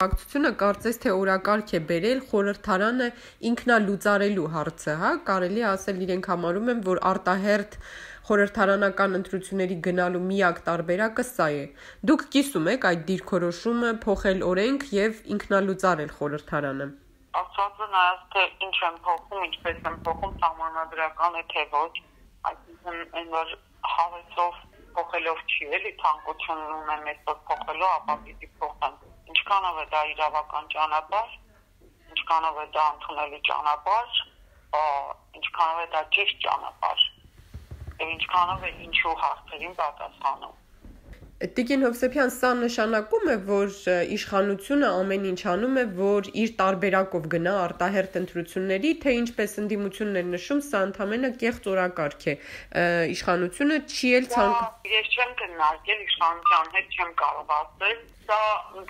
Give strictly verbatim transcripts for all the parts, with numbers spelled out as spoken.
խմբակցությունը կարծես թե օրակարգ է բերել խորհրդարանը ինքնալուծարելու հարցը, հա, կարելի է ասել իրենք համարում են, որ արտահերթ խորհրդարանական ընտրությունների գնալու միակ տարբերակը սա է։ Դուք կիսում եք այդ դիրքորոշումը փոխել օրենք եւ ինքնալուծարել խորհրդարանը։ Ասածը նայած թե ինչ են փոխում, ինչպես են փոխում սահմանադրական է թե ոչ, այսինքն այն որ հավեսով փոխելով չի էլի ցանկություն ունեն մեծով փոխելու, ապա պիտի փոխեն։ Ինչքանով է դա իրավական ճանապարհ, ինչքանով է դա ընդունելի ճանապարհ, ինչքանով է դա ճիշտ ճանապարհ, եւ ինչքանով է ինչու հարցերին պատասխանում։ Տիկին Հովսեփյան, սա նշանակում է, որ իշխանությունը ամեն ինչ անում է, որ իր տարբերակով գնա արտահերթ ընտրությունների, թե ինչպես ընդդիմությունն էր նշում, սա ընդամենը կեղծ օրակարգ է։ Իշխանությունը չի էլ ցանկ։ Ես չեմ քննարկել իշխանության հետ, չեմ կարող ասել։ Սա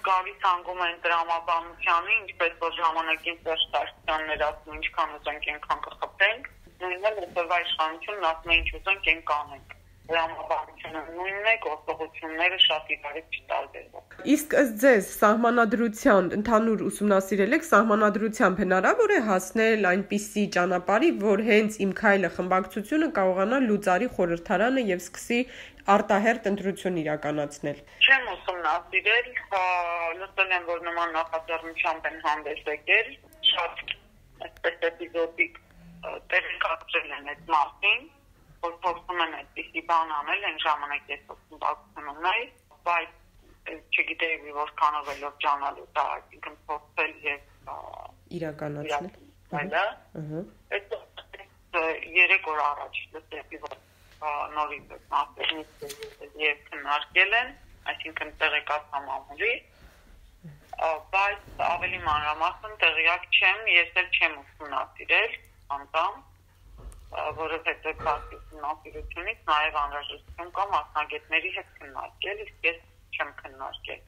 գալիս անգում են դրամաբանությանը, ինչպես որ ժամանակին Սերժ Սարգսյանն էր ասում, ինչքան ուզենք այնքան կխփենք, նույնն էլ հետևա իշխանությունն ասում է ինչ ուզենք այն կանենք։ Դրամաբանությունը նույնն է, գործողությունները շատ իրարից չտարբերվում։ Իսկ ըստ ձեզ սահմանադրության ընդհանուր ուսումնասիրել եք սահմանադրությամբ հնարավոր է հասնել այնպիսի ճանապարհի, որ հենց Իմ քայլը խմբակցությունը կարողանա լուծարի խորհրդարանը եւ սկսի արտահերթ ընտրություն իրականացնել։ Չեմ ուսումնասիրել, լսել եմ, որ նման նախաձեռնությամբ են հանդես եկել, շատ այսպես էպիզոդիկ տեղեկացրել են այդ մասին, որ փորձում են այդպիսի բան անել, այն ժամանակ ես խմբակցություն ունեի, բայց չգիտեի որքանով է լրջանալու դա, այսինքն փորձել եւ իրականացնել։ Այդ երեք օր առաջ լսեցի, որ նորից մասերից եւ քննարկել են, այսինքն տեղեկացա մամուլի, բայց ավելի մանրամասն տեղյակ չեմ, ես էլ չեմ ուսումնասիրել անձամ, որովհետեւ բացի ուսումնասիրությունից նաեւ անհրաժեշտություն կա մասնագետների հետ քննարկել, իսկ ես չեմ քննարկել։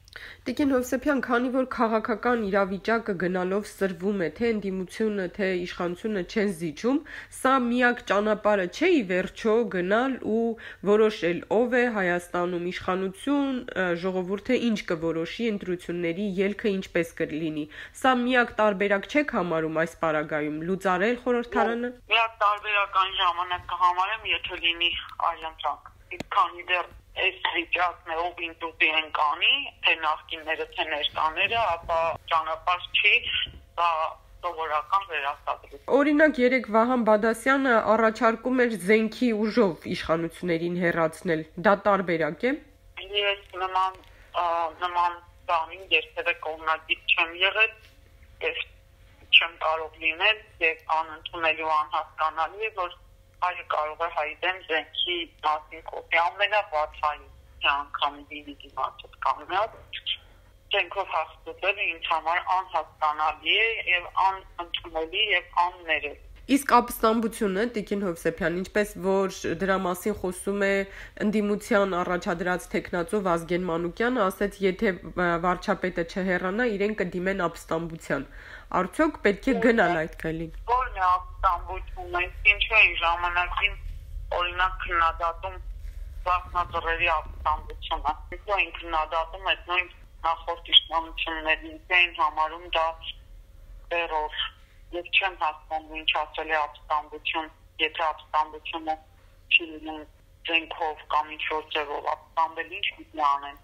Տիկին Հովսեփյան, քանի որ քաղաքական իրավիճակը գնալով սրվում է, թե ընդդիմությունը, թե իշխանությունը չեն զիջում, սա միակ ճանապարհը չէ ի վերջո գնալ ու որոշել ով է Հայաստանում իշխանություն, ժողովուրդը ինչ կորոշի ընտրությունների ելքը ինչպես կլինի։ Սա միակ տարբերակ չեք համարում այս պարագայում լուծարել խորհրդարանը։ Միակ տարբերական ժամանակ կհամարեմ, եթե լինի այլընտրանք։ Իսկ քանի դեռ այս վիճակն է ով ինտուտի են կանի, թե նախկինները, թե ներկաները, ապա ճանապարհ չի, դա սովորական վերահսկողություն։ Օրինակ երեք Վահան Բադասյանը առաջարկում էր զենքի ուժով իշխանություններին հեռացնել, դա տարբերակ է։ Ես նման նման բանին երբևէ կողմնակից չեմ եղել, ես չեմ կարող լինել եւ անընդունելի ու անհասկանալի է, որ այլ կարող է հայտեն զենքի մասին կոպի ամենավատ հայ անգամ դիվիդի մատոտ կանգնած զենքով հաստատելը ինձ համար անհասկանալի է եւ անընդունելի եւ աններել։ Իսկ ապստամբությունը, Տիկին Հովսեփյան, ինչպես որ դրա մասին խոսում է ընդդիմության առաջադրած տեխնացու Վազգեն Մանուկյանը, ասաց, եթե վարչապետը չհեռանա, իրեն կդիմեն ապստամբության։ Արդյոք պետք է գնալ այդ քայլին։ Ո՞րն է ապստամբությունը, ինչու են ժամանակին օրինակ քննադատում վախնաձորերի ապստամբությունը։ Ինչու են քննադատում այդ նույն նախորդ իշխանություններին, այն համարում դա տերոր։ Ես չեմ հասկանում ինչ ասել է ապստամբություն, եթե ապստամբությունը չի լինում զենքով կամ ինչ-որ ձևով ապստամբել, ինչ պիտի անեն։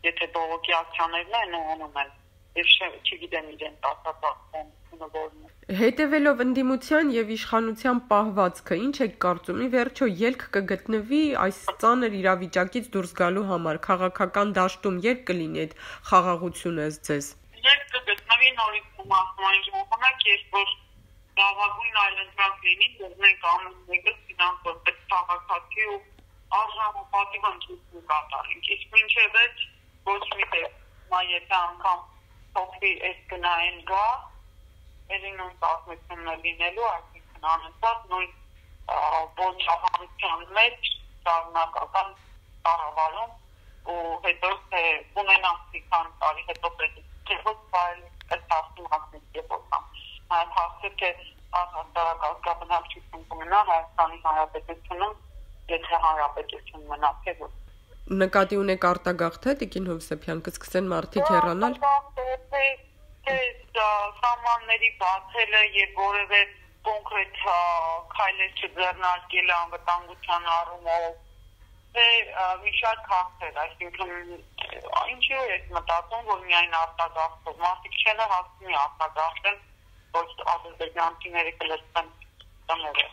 Եթե բողոքի ակցիաներն են անում են, ես չգիտեմ իրենց ասած ապստամբությունը որն է։ Հետևելով ընդդիմության եւ իշխանության պահվածքը, ինչ եք կարծում, ի վերջո ելք կգտնվի այս ծանր իրավիճակից դուրս գալու համար, քաղաքական դաշտում երբ կլինի այդ խաղաղությունը ըստ ձեզ։ Երբ կգտնվի նորից մասնային ժամանակ, երբ որ լավագույն այլընտրանք լինի, որ մենք ամեն մեկը ֆինանսով պետք քաղաքացի ու արժանապատիվ ընտրություն կատարենք։ Իսկ մինչև այդ ոչ մի տեղ, եթե անգամ փոխվի այս գնային գա, ելի նույն պատմությունն է լինելու, այսինքն անընդհատ նույն ոչխարության մեջ շարունակական կառավարում ու հետո թե ունենանք մի քանի տարի հետո պետք է ոչ բայ այդ հասցում հասնի եպոքան։ Այդ հասցը թե հասարակական կմնա Հայաստանի Հանրապետությունում, եթե հանրապետություն մնա թե ոչ։ Նկատի ունեք արտագաղթ է, Տիկին Հովսեփյան, կսկսեն մարդիկ հեռանալ։ սրճարանների բացելը եւ որևէ կոնկրետ քայլեր չձեռնարկելը անվտանգության առումով թե մի շարք հարցեր, այսինքն ինչու է մտածում, որ միայն արտագաղթով, մարդիկ չեն հասցնի արտագաղթեն, ոչ ադրբեջանցիները կլսեն տները։